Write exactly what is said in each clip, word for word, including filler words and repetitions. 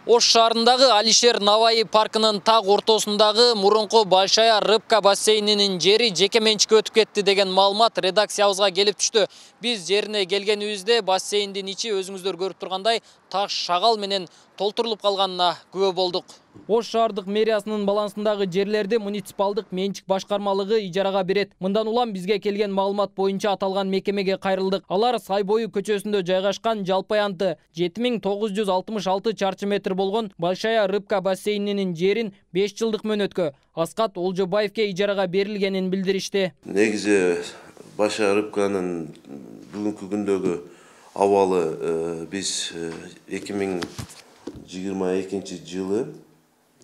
Ош шаарындагы Алишер Наваи паркынын так ортосундагы мурунку Большая рыбка бассейнинин жери жеке менчикке өтүп кетти деген маалымат редакциябызга келип түштү. Биз жерине келгенибизде бассейндин ичи өзүңүздөр көрүп тургандай таш шагал менен толтурулуп калганына күбө болдук. Ош шаардык мэриясынын балансындагы жерлерди муниципалдык менчик башкармалыгы ижарага берет. Мындан улам бизге келген маалымат боюнча аталган мекемеге кайрылдык. Алар Сай бою көчөсүндө жайгашкан жалпы аянты жети миң тогуз жүз алтымыш алты чарчы метр болгон Большая рыбка бассейнинин жерин беш жылдык мөөнөткө Аскат Олжобаевке ижарага берилгенин билдиришти. Негизи Большая рыбканын бүгүнкү күндөгү абалы биз эки миң жыйырма экинчи жылы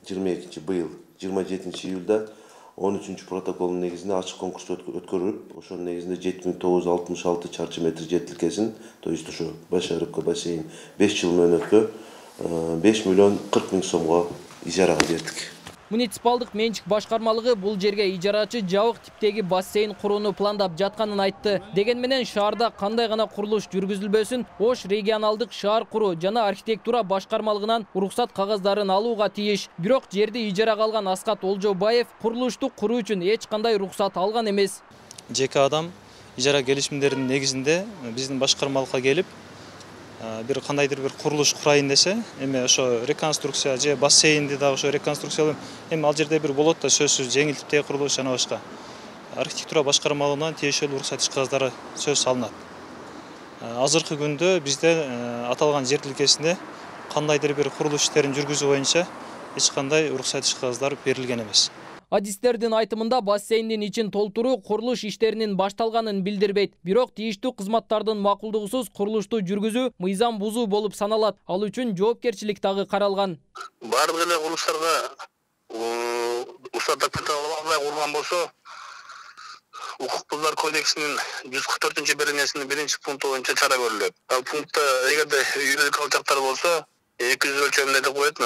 жыйырма экинчи быйыл жыйырма жетинчи июлда он үчүнчү протоколдун негизинде ачык конкурс өткөрүлүп, ошонун негизинде жети миң тогуз жүз алтымыш алты чарчы метр жер тилкесин, то есть ошо Большая рыбка бассейн беш жыл мөөнөткө беш миллион кырк миң сомго ижарага бердик. Муниципалдык менчик башкармалыгы бул жерге ижарачы жабык типтеги бассейн курууну пландап жатканын айтты. Деген менен шаарда кандай гана курулуш жүргүзүлбөсүн, Ош регионалдык шаар куруу жана архитектура башкармалыгынан уруксат кагаздарын алууга тийиш. Бирок жерди ижарага алган Аскат Олжобаев курулушту куруу үчүн эч кандай уруксат алган эмес. Жеке адам ижара келишимдеринин негизинде биздин башкармалыкка келип, бир кандайдыр бир курулуш курайын десе, эми ошо реконструкция же бассейнди да ошо реконструкциялап, эми ал жерде бир болот да сөзсүз жеңилтиптеги курулуш жана башка. Архитектура башкармалыгынан тиешелүү уруксат иш кагаздары сөз салынат. Азыркы күндө бизде аталган жер тилкесинде кандайдыр бир курулуш иштерин жүргүзүү боюнча эч кандай уруксат иш кагаздар берилген эмес. Адистердин айтымында бассейндин ичин толтуруу курулуш иштеринин башталганын билдирбейт. Бирок тийиштүү кызматтардын макулдугусуз курулушту жүргүзүү мыйзам бузуу болуп саналат. Ал үчүн жоопкерчилик дагы каралган. Бардык эле курулуштарга уруксат документ албай курган болсо, Укук бузуулар кодексинин жүз кырк төртүнчү беренесинин биринчи пункту боюнча чара көрүлөт. Ал пунктта эгерде юридикалык жактар болсо, эки жүз өлчөмүндө деп коет,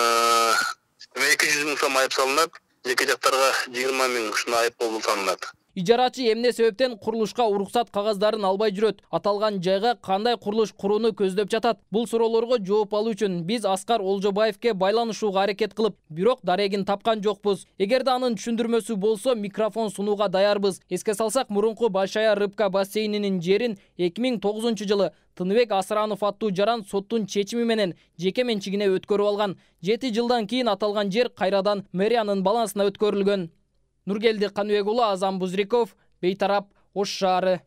эки жүз миң сом айып салынат. Эки жактарга жыйырма миң ушундай айып болуп саналат. Ижарачы эмне себептен курулушка уруксат кагаздарын албай жүрөт? Аталган жайга кандай курулуш курууну көздөп жатат? Бул суроолорго жооп алуу үчүн биз Аскар Олжобаевке байланышууга аракет кылып, бирок дарегин тапкан жокпуз. Эгерде анын түшүндүрмөсү болсо, микрофон сунууга даярбыз. Эске салсак, мурунку Большая рыбка бассейнинин жерин эки миң тогузунчу жылы Тыныбек Асыранов аттуу жаран соттун чечими менен жеке менчигине өткөрүп алган. жети жылдан кийин аталган жер кайрадан мэриянын балансына өткөрүлгөн. Нургелди Каныбек уулу, Азам Бузриков, Бейтарап, Ош шаары.